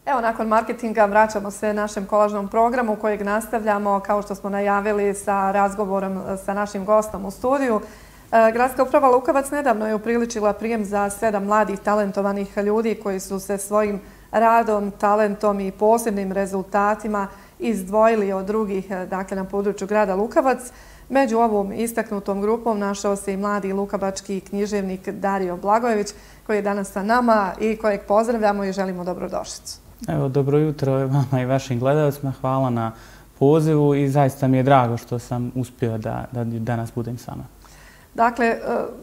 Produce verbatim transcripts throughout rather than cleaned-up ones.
Evo, nakon marketinga vraćamo se našem kolažnom programu kojeg nastavljamo, kao što smo najavili, sa razgovorom sa našim gostom u studiju. Gradska uprava Lukovac nedavno je upriličila prijem za sedam mladih talentovanih ljudi koji su se svojim radom, talentom i posebnim rezultatima izdvojili od drugih, dakle, na području grada Lukovac. Među ovom istaknutom grupom našao se i mladi lukovački književnik Dario Blagojević, koji je danas sa nama i kojeg pozdravljamo i želimo dobrodošlicu. Evo, dobro jutro vama i vašim gledalcima. Hvala na pozivu i zaista mi je drago što sam uspio da, da danas budem s vama. Dakle,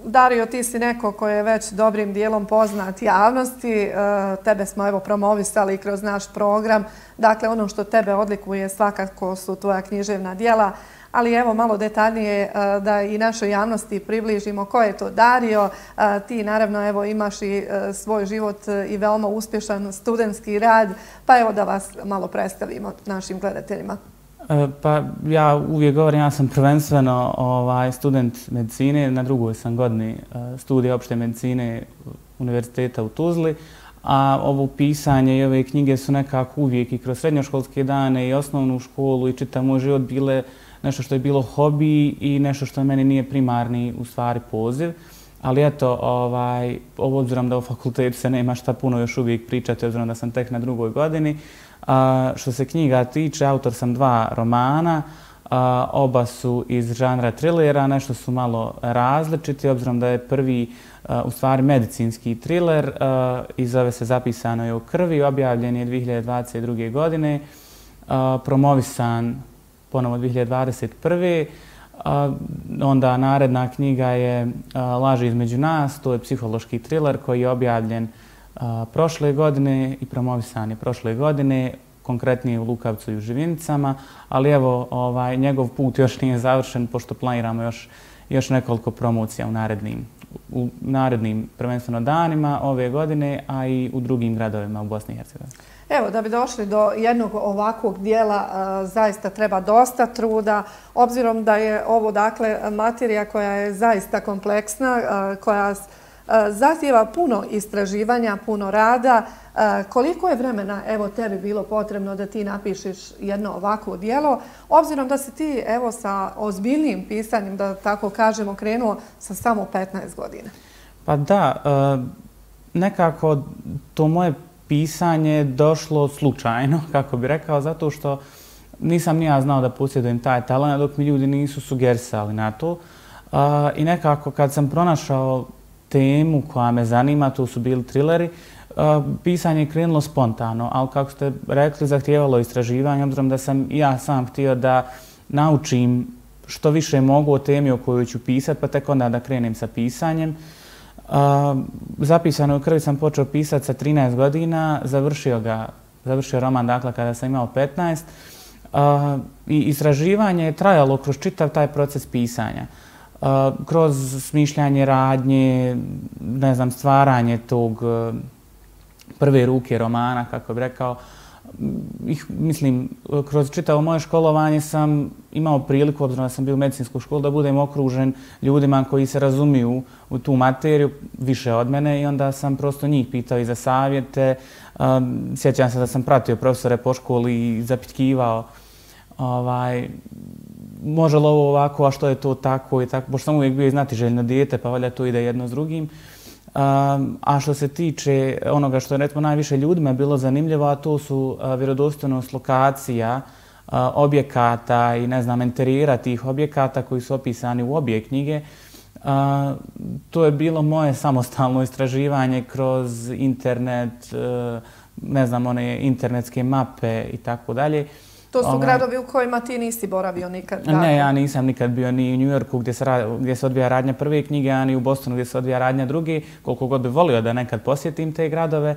Dario, ti si neko koji je već dobrim dijelom poznat javnosti. Tebe smo evo promovisali kroz naš program. Dakle, ono što tebe odlikuje svakako su tvoja književna djela. Ali evo malo detaljnije da i našoj javnosti približimo ko je to Dario. Ti naravno evo imaš i svoj život i veoma uspješan studentski rad. Pa evo da vas malo predstavimo našim gledateljima. Pa ja uvijek govorim, ja sam prvenstveno ovaj, student medicine, na drugoj sam godini studija opšte medicine Univerziteta u Tuzli, a ovo pisanje i ove knjige su nekako uvijek i kroz srednjoškolske dane i osnovnu školu i čitav moj život bile nešto što je bilo hobi i nešto što meni nije primarni u stvari poziv. Ali eto, ovaj, obzirom da u fakultetu se nema šta puno još uvijek pričati, obzirom da sam tek na drugoj godini. A, što se knjiga tiče, autor sam dva romana, a, oba su iz žanra trilera, nešto su malo različiti, obzirom da je prvi a, u stvari medicinski triler a, i zove se Zapisano je u krvi, objavljen je dvije hiljade dvadeset druge. godine, a, promovisan ponovo dvije hiljade dvadeset prve. A, onda naredna knjiga je a, Laži između nas, to je psihološki triler koji je objavljen a, prošle godine i promovisan je prošle godine, konkretnije u Lukavcu i u Živinicama, ali evo ovaj, njegov put još nije završen pošto planiramo još, još nekoliko promocija u narednim, u narednim prvenstveno danima ove godine, a i u drugim gradovima u Bosni i Hercegovini. Evo, da bi došli do jednog ovakvog dijela zaista treba dosta truda, obzirom da je ovo dakle materija koja je zaista kompleksna, koja zahtijeva puno istraživanja, puno rada. Koliko je vremena evo tebi bilo potrebno da ti napišeš jedno ovakvo dijelo, obzirom da si ti evo sa ozbiljnim pisanjem, da tako kažemo, krenuo sa samo petnaest godina? Pa da, nekako to moje pisanje došlo slučajno, kako bi rekao, zato što nisam ni ja znao da posjedujem taj talent dok mi ljudi nisu sugerisali na to. I nekako kad sam pronašao temu koja me zanima, to su bili trileri, pisanje je krenulo spontano, ali kako ste rekli, zahtijevalo istraživanje, obzirom da sam i ja sam htio da naučim što više mogu o temi o kojoj ću pisati, pa tek onda da krenem sa pisanjem. Zapisano u krvi sam počeo pisati sa trinaest godina, završio ga, završio roman dakle kada sam imao petnaest. I istraživanje je trajalo kroz čitav taj proces pisanja. Kroz smišljanje radnje, ne znam, stvaranje tog prve ruke romana, kako bih rekao. Mislim, kroz čitavo moje školovanje sam imao priliku, obzirom da sam bio u medicinskoj školi, da budem okružen ljudima koji se razumiju u tu materiju više od mene i onda sam prosto njih pitao i za savjete. Sjećam se da sam pratio profesore po školi i zapitkivao ovaj, može li ovo ovako, a što je to tako i tako, pošto sam uvijek bio znatiželjno dijete, pa valjda to ide jedno s drugim. Um, a što se tiče onoga što je recimo najviše ljudima bilo zanimljivo, a to su uh, vjerodostojnost lokacija, uh, objekata i ne znam, interijera tih objekata koji su opisani u obje knjige. Uh, to je bilo moje samostalno istraživanje kroz internet, uh, ne znam, one internetske mape i tako dalje. To su gradovi u kojima ti nisi boravio nikad? Ne, ja nisam nikad bio ni u New Yorku gdje se, gdje se odvija radnja prve knjige, a ni u Bostonu gdje se odvija radnja druge, koliko god bi volio da nekad posjetim te gradove.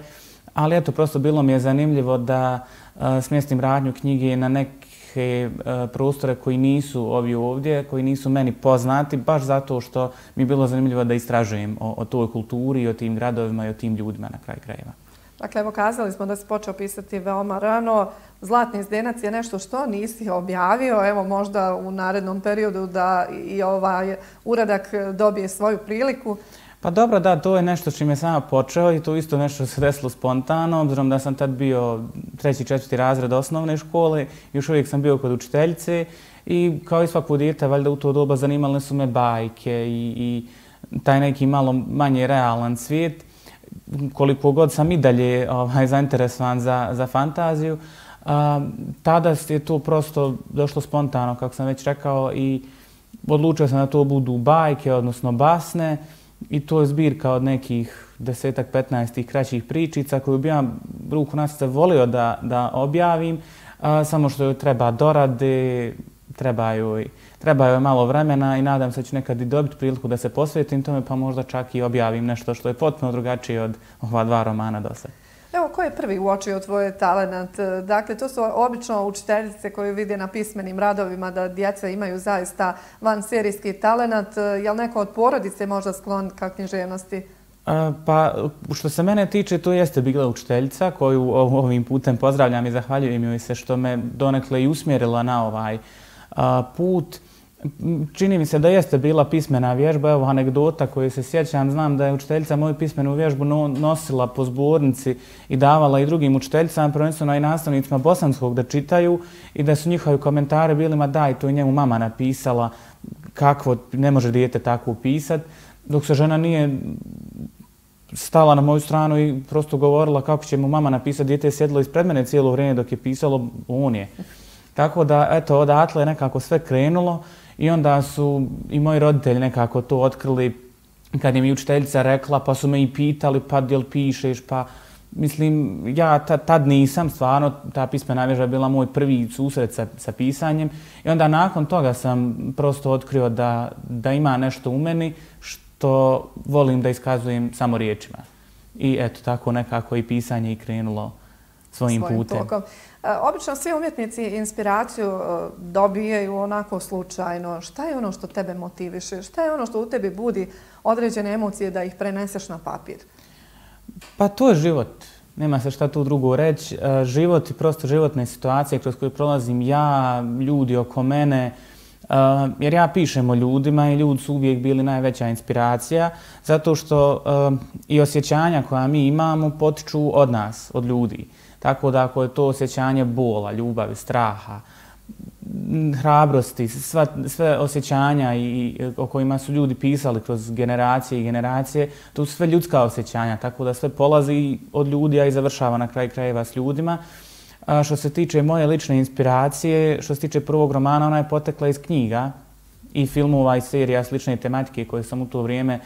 Ali eto, prosto bilo mi je zanimljivo da uh, smjestim radnju knjige na neke uh, prostore koji nisu ovi ovdje, koji nisu meni poznati, baš zato što mi je bilo zanimljivo da istražujem o, o toj kulturi, o tim gradovima i o tim ljudima na kraj krajeva. Dakle, evo kazali smo da si počeo pisati veoma rano. Zlatni zdenac je nešto što nisi objavio. Evo možda u narednom periodu da i ovaj uradak dobije svoju priliku. Pa dobro, da, to je nešto s čim je sama počeo i to isto nešto se desilo spontano, obzirom da sam tad bio treći, četvrti razred osnovne škole, još uvijek sam bio kod učiteljice i kao i svako dijete, valjda u to doba zanimale su me bajke i, i taj neki malo manje realan svijet. Koliko god sam i dalje ovaj, zainteresovan za, za fantaziju, a, tada je to prosto došlo spontano, kako sam već rekao, i odlučio sam da to budu bajke, odnosno basne, i to je zbirka od nekih desetak, petnaestih kraćih pričica koju bi ja ruku na srce volio da, da objavim, a, samo što joj treba dorade, treba joj, treba joj malo vremena i nadam se da ću nekad i dobiti priliku da se posvetim tome, pa možda čak i objavim nešto što je potpuno drugačije od ova dva romana do sada. Evo, ko je prvi uočio tvoj talenat? Dakle, to su obično učiteljice koje vide na pismenim radovima da djeca imaju zaista vanserijski talenat. Je li neko od porodice možda sklon ka književnosti? Pa, što se mene tiče, to jeste bila učiteljica koju ovim putem pozdravljam i zahvaljujem joj se što me donekle i usmjerila na ovaj put. Čini mi se da jeste bila pismena vježba. Evo anegdota koju se sjećam, znam da je učiteljica moju pismenu vježbu nosila po zbornici i davala i drugim učiteljicama, prvenstveno i nastavnicima bosanskog da čitaju i da su njihovi komentari bili, ma daj, to je njemu mama napisala, kakvo, ne može dijete tako upisat, dok se žena nije stala na moju stranu i prosto govorila kako će mu mama napisati, dijete je sjedilo ispred mene cijelo vrijeme dok je pisalo, on je. Tako da, eto, odatle je nekako sve krenulo i onda su i moji roditelji nekako to otkrili kad je mi učiteljica rekla, pa su me i pitali, pa jel pišeš, pa mislim, ja tad nisam, stvarno, ta pismena vježba je bila moj prvi susret sa, sa pisanjem i onda nakon toga sam prosto otkrio da, da ima nešto u meni što volim da iskazujem samo riječima. I eto, tako nekako i pisanje i krenulo svojim, svojim putem. Tokom. Obično svi umjetnici inspiraciju dobijaju onako slučajno. Šta je ono što tebe motiviše? Šta je ono što u tebi budi određene emocije da ih preneseš na papir? Pa to je život. Nema se šta tu drugo reći. Život i prosto životne situacije kroz koje prolazim ja, ljudi oko mene, jer ja pišem o ljudima i ljudi su uvijek bili najveća inspiracija, zato što i osjećanja koja mi imamo potiču od nas, od ljudi. Tako da ako je to osjećanje bola, ljubavi, straha, hrabrosti, sva, sve osjećanja i, o kojima su ljudi pisali kroz generacije i generacije, to su sve ljudska osjećanja, tako da sve polazi od ljudi, a i završava na kraj krajeva s ljudima. A što se tiče moje lične inspiracije, što se tiče prvog romana, ona je potekla iz knjiga i filmova i serija slične tematike koje sam u to vrijeme,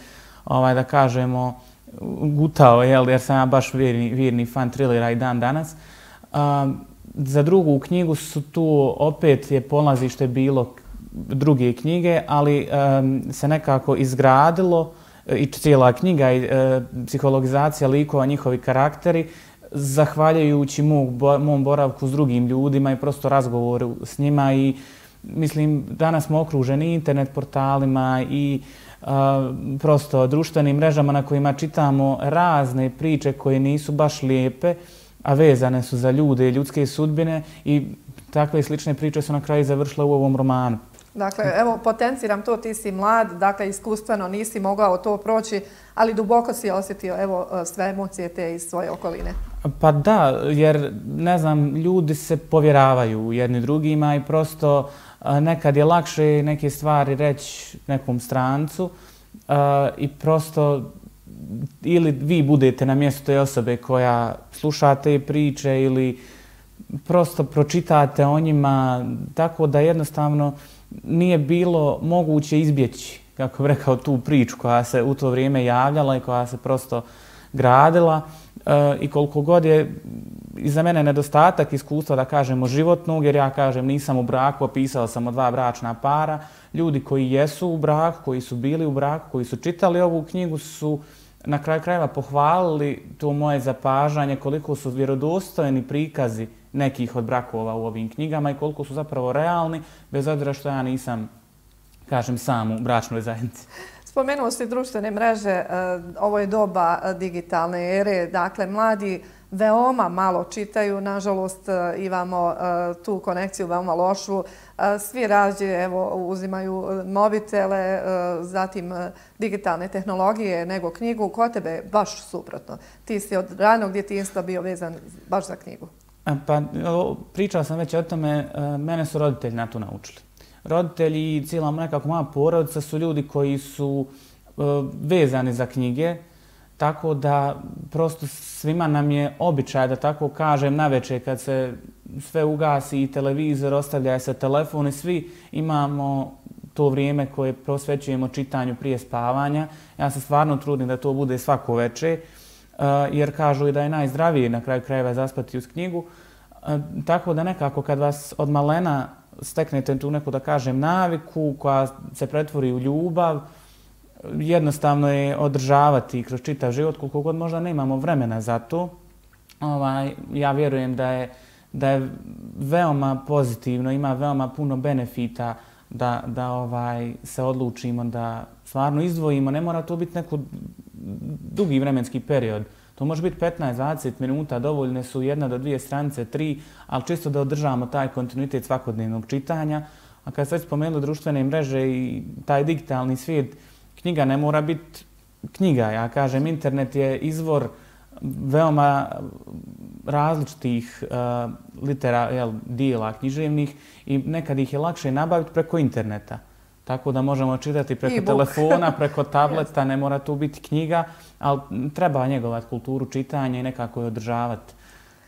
ovaj, da kažemo, gutao, jel, jer sam ja baš vjerni, vjerni fan trilera i dan danas. A, za drugu knjigu su tu opet je polazište bilo druge knjige, ali um, se nekako izgradilo i cijela knjiga i uh, psihologizacija likova, njihovi karakteri, zahvaljujući mog, mom boravku s drugim ljudima i prosto razgovoru s njima i mislim, danas smo okruženi internet portalima i uh, prosto društvenim mrežama na kojima čitamo razne priče koje nisu baš lijepe, a vezane su za ljude i ljudske sudbine i takve slične priče su na kraju završile u ovom romanu. Dakle, evo, potenciram to, ti si mlad, dakle, iskustveno nisi mogao to proći, ali duboko si osjetio, evo, sve emocije te iz svoje okoline. Pa da, jer, ne znam, ljudi se povjeravaju jedni drugima i prosto nekad je lakše neke stvari reći nekom strancu i prosto ili vi budete na mjestu te osobe koja sluša te priče ili prosto pročitate o njima, tako da jednostavno nije bilo moguće izbjeći, kako bih rekao, tu priču koja se u to vrijeme javljala i koja se prosto gradila. E, I koliko god je iza mene nedostatak iskustva, da kažemo, životnog, jer ja kažem nisam u braku, opisao sam o dva bračna para, ljudi koji jesu u braku, koji su bili u braku, koji su čitali ovu knjigu su na kraju krajeva pohvalili to moje zapažanje, koliko su vjerodostojni prikazi nekih od brakova u ovim knjigama i koliko su zapravo realni, bez obzira što ja nisam, kažem, sam u bračnoj zajednici. Spomenuo si društvene mreže, ovo je doba digitalne ere, dakle, mladi veoma malo čitaju. Nažalost, imamo tu konekciju veoma lošu. Svi rađe evo, uzimaju mobitele, zatim digitalne tehnologije nego knjigu. Kod tebe je baš suprotno. Ti si od ranog djetinjstva bio vezan baš za knjigu. Pa, pričao sam već o tome, mene su roditelji na to naučili. Roditelji i cijela nekako moja porodica su ljudi koji su vezani za knjige, tako da prosto svima nam je običaj, da tako kažem, navečer kad se sve ugasi i televizor, ostavlja se telefon i svi imamo to vrijeme koje posvećujemo čitanju prije spavanja. Ja se stvarno trudim da to bude svako večer, jer kažu i da je najzdravije na kraju krajeva zaspati uz knjigu. Tako da nekako kad vas od malena steknete tu neku, da kažem, naviku koja se pretvori u ljubav, jednostavno je održavati kroz čitav život, koliko god možda nemamo vremena za to. Ovaj, ja vjerujem da je, da je veoma pozitivno, ima veoma puno benefita da, da ovaj, se odlučimo da stvarno izdvojimo. Ne mora to biti neko dugi vremenski period. To može biti petnaest do dvadeset minuta, dovoljne su jedna do dvije stranice, tri, ali čisto da održavamo taj kontinuitet svakodnevnog čitanja. A kad ste već spomenuli društvene mreže i taj digitalni svijet, knjiga ne mora biti knjiga. Ja kažem, internet je izvor veoma različitih uh, litera, jel, dijela književnih i nekad ih je lakše nabaviti preko interneta. Tako da možemo čitati preko E-book. telefona, preko tableta, ne mora tu biti knjiga, ali treba njegovati kulturu čitanja i nekako je održavati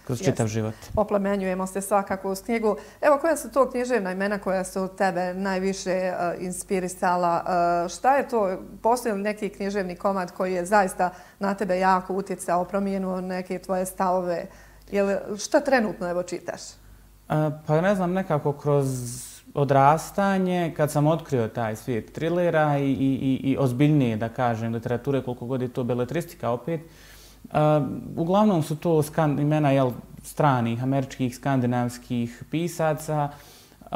kroz čitav život. Oplemenjujemo se svakako uz knjigu. Evo, koja su to književna imena koja su tebe najviše uh, inspirisala? Uh, šta je to? Postoji li neki književni komad koji je zaista na tebe jako utjecao, promijenuo neke tvoje stavove? Jel, šta trenutno evo čitaš? Uh, pa ne znam, nekako kroz odrastanje, kad sam otkrio taj svijet trilera i, i, i ozbiljnije, da kažem, literature, koliko god je to beletristika opet, uh, uglavnom su to skan, imena jel, stranih, američkih, skandinavskih pisaca. Uh,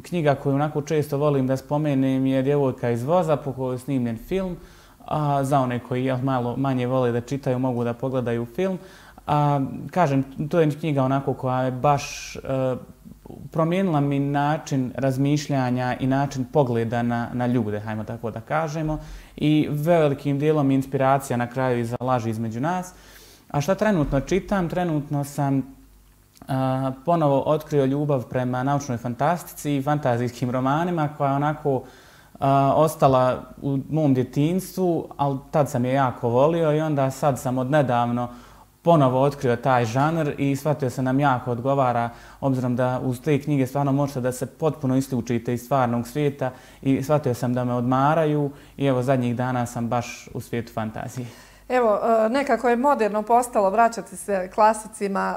knjiga koju onako često volim da spomenem je Djevojka iz voza, po kojoj je snimljen film. Uh, za one koji jel, malo manje vole da čitaju, mogu da pogledaju film. Uh, kažem, to je knjiga onako koja je baš uh, promijenila mi način razmišljanja i način pogleda na, na ljude, hajmo tako da kažemo. I velikim dijelom inspiracija na kraju i za laži između nas. A šta trenutno čitam? Trenutno sam uh, ponovo otkrio ljubav prema naučnoj fantastici i fantazijskim romanima koja je onako uh, ostala u mom djetinjstvu, ali tad sam je jako volio i onda sad sam odnedavno ponovo otkrio taj žanr i shvatio se nam jako odgovara, obzirom da uz te knjige stvarno možete da se potpuno isključite iz stvarnog svijeta i shvatio sam da me odmaraju i evo zadnjih dana sam baš u svijetu fantazije. Evo, nekako je moderno postalo vraćati se klasicima.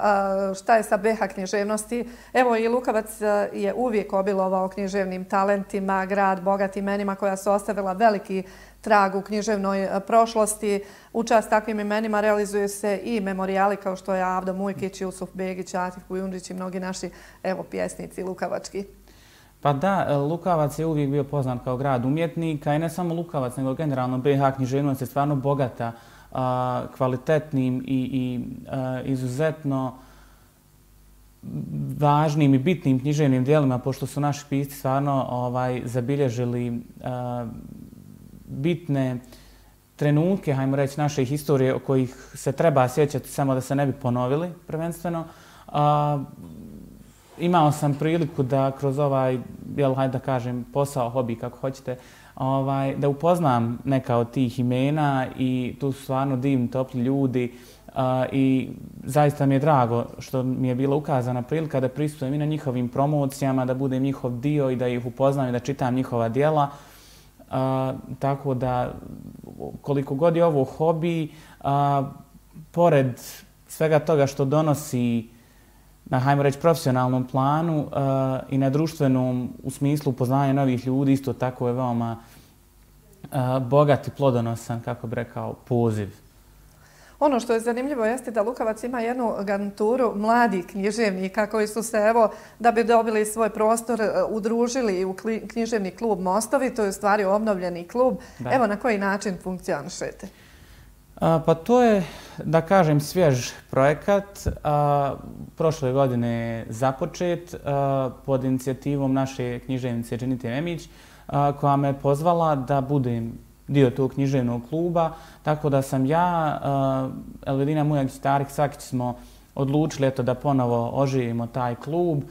Šta je sa B H književnosti? Evo, i Lukavac je uvijek obilovao književnim talentima, grad bogat imenima koja su ostavila veliki trag u književnoj prošlosti. U čast takvim imenima realizuju se i memorijali kao što je Avdo Mujkić, Jusuf Begić, Atif Kujundžić i mnogi naši evo, pjesnici lukavački. Pa da, Lukavac je uvijek bio poznat kao grad umjetnika i ne samo Lukavac, nego generalno B H književnost je stvarno bogata a, kvalitetnim i, i a, izuzetno važnim i bitnim književnim dijelima, pošto su naši pisci stvarno ovaj, zabilježili a, bitne trenutke, hajmo reći, naše historije o kojih se treba sjećati samo da se ne bi ponovili prvenstveno. A, imao sam priliku da kroz ovaj, jel, hajde da kažem, posao, hobi, kako hoćete, ovaj, da upoznam neka od tih imena i tu su stvarno divni, topli ljudi a, i zaista mi je drago što mi je bila ukazana prilika da pristupujem i na njihovim promocijama, da budem njihov dio i da ih upoznam i da čitam njihova djela. A, tako da koliko god je ovo hobi, a, pored svega toga što donosi na, hajmo reći, profesionalnom planu uh, i na društvenom u smislu upoznanja novih ljudi, isto tako je veoma uh, bogat i plodonosan, kako bi rekao, poziv. Ono što je zanimljivo jeste da Lukavac ima jednu garnituru mladih književnika koji su se, evo, da bi dobili svoj prostor, udružili u književni klub Mostovi. To je u stvari obnovljeni klub. Da. Evo, na koji način funkcionišete? Pa to je, da kažem, svjež projekat. Prošle godine je započet pod inicijativom naše književnice Dženite Memić, koja me pozvala da budem dio tog književnog kluba, tako da sam ja, Elvedina Mujagić i Tarik Sakić smo odlučili eto, da ponovo oživimo taj klub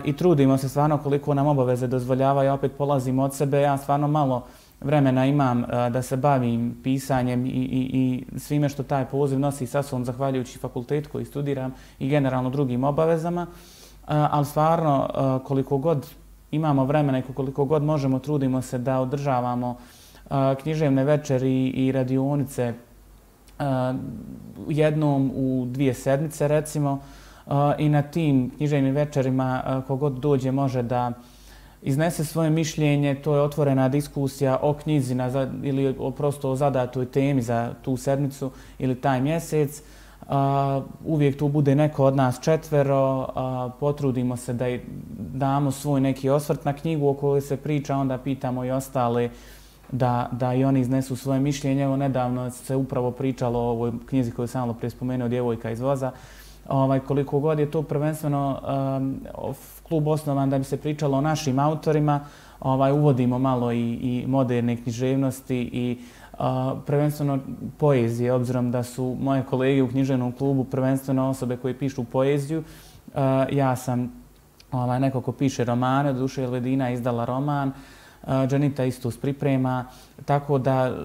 i trudimo se stvarno koliko nam obaveze dozvoljavaju. Ja opet polazim od sebe, ja stvarno malo vremena imam da se bavim pisanjem i, i, i svime što taj poziv nosi sa sobom, zahvaljujući fakultetu koji studiram i generalno drugim obavezama, ali stvarno koliko god imamo vremena i koliko god možemo, trudimo se da održavamo književne večeri i radionice jednom u dvije sedmice recimo i na tim književnim večerima kogod dođe može da iznese svoje mišljenje. To je otvorena diskusija o knjizi na, ili o prosto o zadatoj temi za tu sedmicu ili taj mjesec. Uvijek tu bude neko od nas četvero, potrudimo se da damo svoj neki osvrt na knjigu o kojoj se priča, onda pitamo i ostale da, da i oni iznesu svoje mišljenje. Evo, nedavno se upravo pričalo o ovoj knjizi koju sam malo prije spomenuo, Djevojka iz voza. Ovaj, koliko god je to prvenstveno um, klub osnovan da bi se pričalo o našim autorima, ovaj, uvodimo malo i, i moderne književnosti i uh, prvenstveno poezije, obzirom da su moje kolege u književnom klubu prvenstveno osobe koje pišu poeziju. Uh, ja sam ovaj, neko ko piše romane, od duše Elvedina izdala roman, Dženita isto priprema, tako da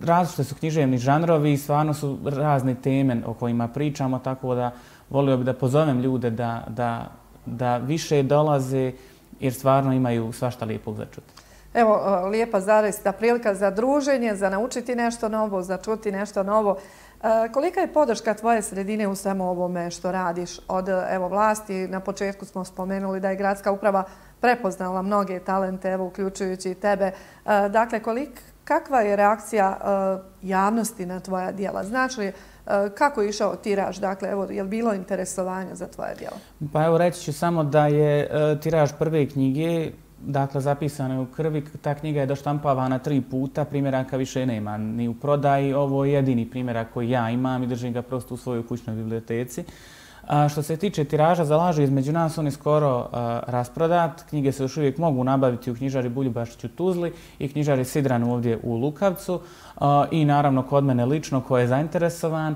različite su književni žanrovi i stvarno su razne teme o kojima pričamo, tako da volio bih da pozovem ljude da, da, da više dolaze jer stvarno imaju svašta lijepog za čuti. Evo, lijepa zaista prilika za druženje, za naučiti nešto novo, za čuti nešto novo. Kolika je podrška tvoje sredine u svemu ovome što radiš od evo, vlasti? Na početku smo spomenuli da je gradska uprava prepoznala mnoge talente, evo, uključujući i tebe. Dakle, kolik, kakva je reakcija javnosti na tvoja djela? Znači li kako je išao tiraž? Dakle, evo, je li bilo interesovanja za tvoja djela? Pa evo, reći ću samo da je tiraž prve knjige, dakle, zapisano je u krvi. Ta knjiga je doštampavana tri puta, primjeraka više nema ni u prodaji. Ovo je jedini primjerak koji ja imam i držim ga prosto u svojoj kućnoj biblioteci. A što se tiče tiraža, zalažu između nas, on je skoro a, rasprodat. Knjige se još uvijek mogu nabaviti u knjižari Buljubašić u Tuzli i knjižari Sidranu ovdje u Lukavcu a, i naravno kod mene lično ko je zainteresovan.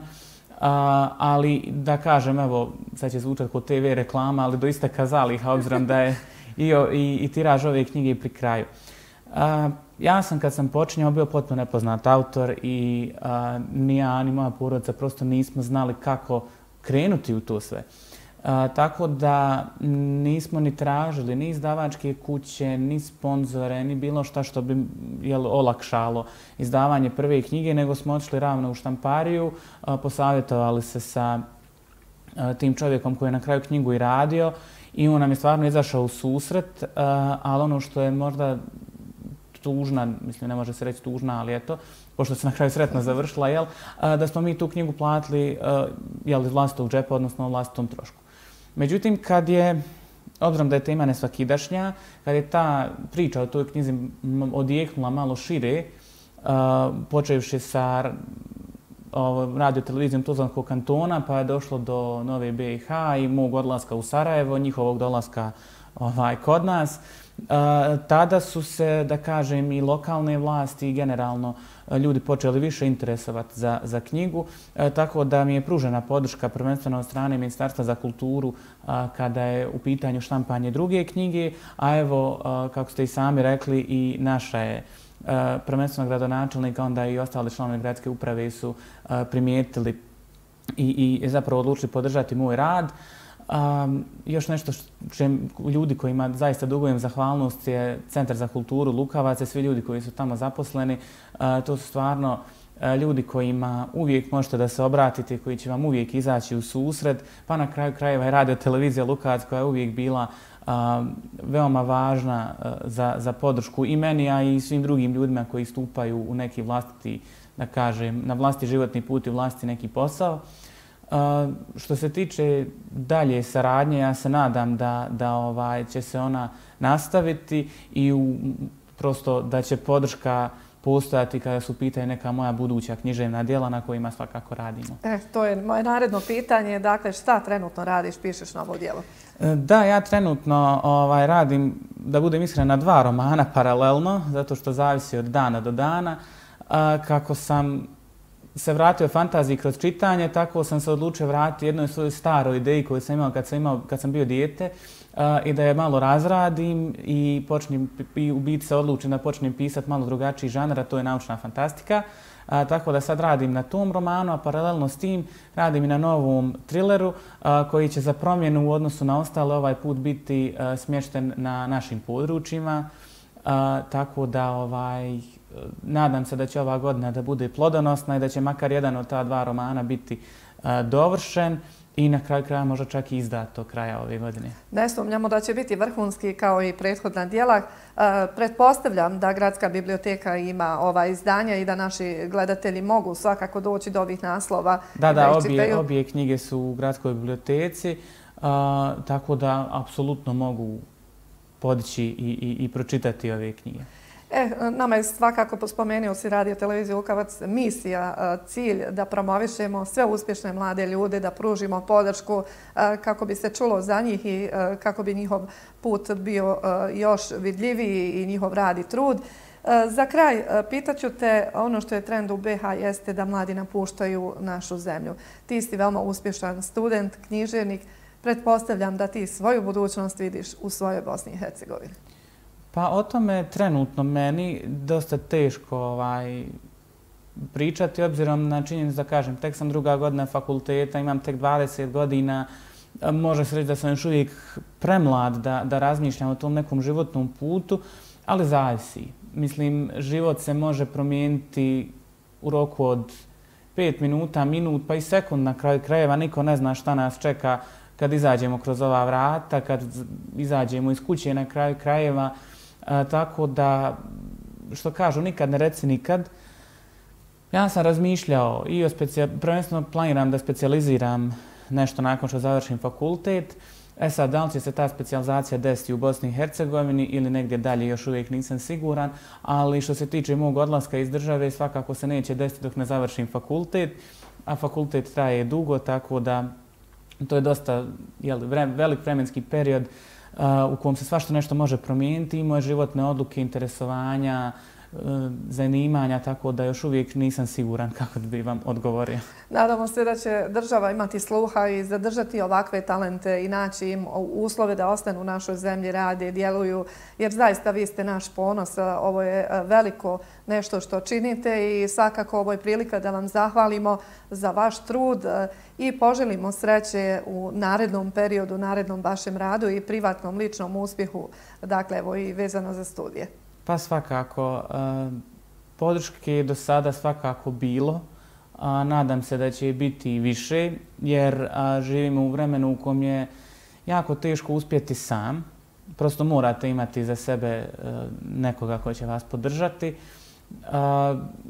A, ali da kažem, evo, sad će zvučati kod te ve reklama, ali doista kazaliha, obzirom da je i, i, i tiraž ove knjige pri kraju. A, ja sam kad sam počinjao bio potpuno nepoznat autor i a, ni ja ni moja porodica prosto nismo znali kako krenuti u to sve. A, tako da nismo ni tražili ni izdavačke kuće, ni sponzore, ni bilo šta što bi jel, olakšalo izdavanje prve knjige, nego smo otišli ravno u štampariju, a, posavjetovali se sa a, tim čovjekom koji je na kraju knjigu i radio i on nam je stvarno izašao u susret, a, ali ono što je možda tužna, mislim ne može se reći tužna, ali eto, pošto se na kraju sretno završila, jel, da smo mi tu knjigu platili jel, iz vlastitog džepa, odnosno vlastitom trošku. Međutim, kad je, obzirom da je tema nesvakidašnja, kad je ta priča o toj knjizi odjeknula malo šire, počevši sa radio televizijom Tuzlanskog kantona, pa je došlo do Nove be i ha i mog odlaska u Sarajevo, njihovog dolaska ovaj, kod nas. Uh, tada su se, da kažem, i lokalne vlasti i generalno ljudi počeli više interesovati za, za knjigu, uh, tako da mi je pružena podrška prvenstveno od strane Ministarstva za kulturu uh, kada je u pitanju štampanje druge knjige, a evo, uh, kako ste i sami rekli, i naša je uh, prvenstveno gradonačelnika, onda i ostale članovi gradske uprave su uh, primijetili i, i zapravo odlučili podržati moj rad. Um, još nešto što ljudi kojima zaista dugujem zahvalnost je Centar za kulturu Lukavac i svi ljudi koji su tamo zaposleni. Uh, to su stvarno uh, ljudi kojima uvijek možete da se obratite, koji će vam uvijek izaći u susret, pa na kraju krajeva je radio televizija Lukavac koja je uvijek bila uh, veoma važna uh, za, za podršku i meni, a i svim drugim ljudima koji stupaju u neki vlastiti, da kažem, na vlastiti životni put i vlastiti neki posao. Uh, što se tiče dalje saradnje, ja se nadam da, da ovaj, će se ona nastaviti i u, prosto da će podrška postojati kada su pitaju neka moja buduća književna djela na kojima svakako radimo. E, to je moje naredno pitanje. Dakle, šta trenutno radiš, pišeš novo djelo? Da, ja trenutno ovaj, radim, da budem iskren, na dva romana paralelno, zato što zavisi od dana do dana. A, kako sam se vratio fantaziji kroz čitanje, tako sam se odlučio vratiti jednoj svojoj staroj ideji koju sam imao kad sam, imao, kad sam bio dijete a, i da je malo razradim i, počnem, i u biti se odlučim da počnem pisati malo drugačiji žanr, a to je naučna fantastika. A, tako da sad radim na tom romanu, a paralelno s tim radim i na novom trileru a, koji će za promjenu u odnosu na ostale ovaj put biti a, smješten na našim područjima. A, tako da ovaj, nadam se da će ova godina da bude plodonosna i da će makar jedan od ta dva romana biti a, dovršen i na kraju kraja možda čak i izdat do kraja ove godine. Ne sumnjamo da će biti vrhunski kao i prethodna djela. E, pretpostavljam da Gradska biblioteka ima ova izdanja i da naši gledatelji mogu svakako doći do ovih naslova. Da, da, obje, obje knjige su u Gradskoj biblioteci, a, tako da apsolutno mogu podići i, i, i pročitati ove knjige. E, nama je svakako, spomenuo si Radio Televiziju Lukavac, misija, cilj da promovišemo sve uspješne mlade ljude, da pružimo podršku kako bi se čulo za njih i kako bi njihov put bio još vidljiviji i njihov rad i trud. Za kraj, pitaću te, ono što je trend u be ha jeste da mladi napuštaju našu zemlju. Ti si veoma uspješan student, književnik. Pretpostavljam da ti svoju budućnost vidiš u svojoj Bosni i Hercegovini. Pa o tome trenutno meni dosta teško ovaj, pričati, obzirom na činjenicu da kažem, tek sam druga godina fakulteta, imam tek dvadeset godina, može se reći da sam još uvijek premlad da, da razmišljam o tom nekom životnom putu, ali zavisi. Mislim, život se može promijeniti u roku od pet minuta, minut, pa i sekund na kraju krajeva. Niko ne zna šta nas čeka kad izađemo kroz ova vrata, kad izađemo iz kuće na kraju krajeva. A, tako da, što kažu, nikad ne reci nikad. Ja sam razmišljao i o specijal... prvenstveno planiram da specijaliziram nešto nakon što završim fakultet. E sad, da li će se ta specijalizacija desiti u Bosni i Hercegovini ili negdje dalje, još uvijek nisam siguran, ali što se tiče mog odlaska iz države, svakako se neće desiti dok ne završim fakultet, a fakultet traje dugo, tako da to je dosta jeli, vrem, velik vremenski period uh, u kojem se svašta nešto može promijeniti i moje životne odluke, interesovanja, uh, zanimanja, tako da još uvijek nisam siguran kako bi vam odgovorio. Nadamo se da će država imati sluha i zadržati ovakve talente i naći im uslove da ostanu u našoj zemlji, rade, djeluju, jer zaista vi ste naš ponos. Ovo je veliko nešto što činite i svakako ovo je prilika da vam zahvalimo za vaš trud i poželimo sreće u narednom periodu, narednom vašem radu i privatnom, ličnom uspjehu, dakle, evo i vezano za studije. Pa svakako. Podrške je do sada svakako bilo. Nadam se da će biti i više, jer živimo u vremenu u kojem je jako teško uspjeti sam. Prosto morate imati za sebe nekoga koji će vas podržati.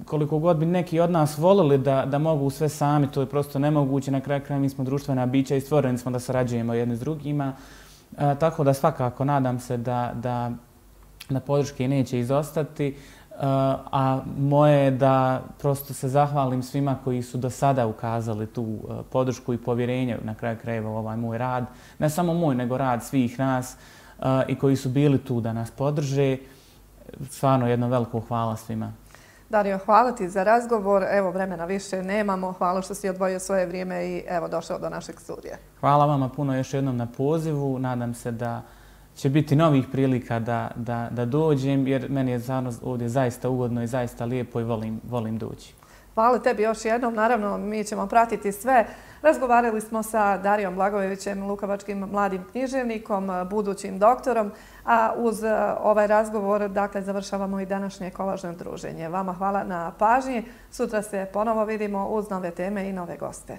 Koliko god bi neki od nas volili da, da mogu sve sami, to je prosto nemoguće. Na kraju kraja mi smo društvena bića i stvoreni smo da sarađujemo jedni s drugima. Tako da svakako nadam se da, da, da podrške neće izostati. A moje je da prosto se zahvalim svima koji su do sada ukazali tu podršku i povjerenje na kraju krajeva u ovaj moj rad. Ne samo moj, nego rad svih nas i koji su bili tu da nas podrže. Stvarno jedno veliko hvala svima. Dario, hvala ti za razgovor. Evo, vremena više nemamo. Hvala što si odvojio svoje vrijeme i evo došao do našeg studija. Hvala vama puno još jednom na pozivu. Nadam se da će biti novih prilika da, da, da dođem, jer meni je ovdje zaista ugodno i zaista lijepo i volim, volim doći. Hvala tebi još jednom. Naravno, mi ćemo pratiti sve. Razgovarali smo sa Darijom Blagojevićem, lukovačkim mladim književnikom, budućim doktorom, a uz ovaj razgovor, dakle, završavamo i današnje kolažno druženje. Vama hvala na pažnji. Sutra se ponovo vidimo uz nove teme i nove goste.